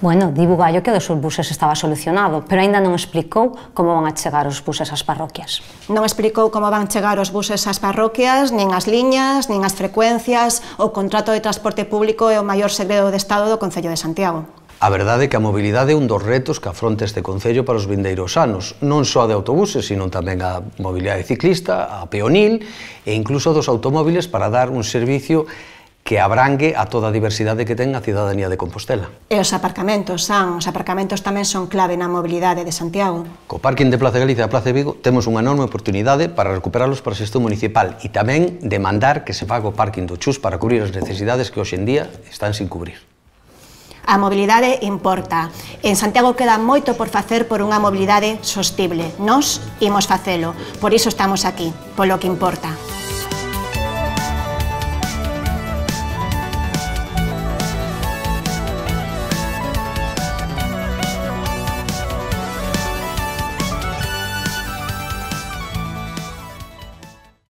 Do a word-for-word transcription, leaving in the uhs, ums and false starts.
Bueno, di Bugallo que dos buses estaba solucionado, pero aínda non explicou como van a chegar os buses ás parroquias. Non explicou como van chegar os buses ás parroquias, nin as liñas, nin as frecuencias. O contrato de transporte público é o maior segredo de Estado do Concello de Santiago. A verdade é que a mobilidade é un dos retos que afronta este Concello para os vindeiros anos, non só de autobuses, sino tamén a mobilidade ciclista, a peonil e incluso dos automóviles para dar un servicio que abrangue a toda a diversidade que ten a cidadanía de Compostela. E os aparcamentos, San, os aparcamentos tamén son clave na mobilidade de Santiago. Co parking de Plaza Galicia e Plaza de Vigo temos unha enorme oportunidade para recuperalos para a xestión municipal e tamén demandar que se faga o parking do Chus para cubrir as necesidades que hoxe en día están sin cubrir. A mobilidade importa. En Santiago queda moito por facer por unha mobilidade sostible. Nós imos facelo. Por iso estamos aquí, polo que importa.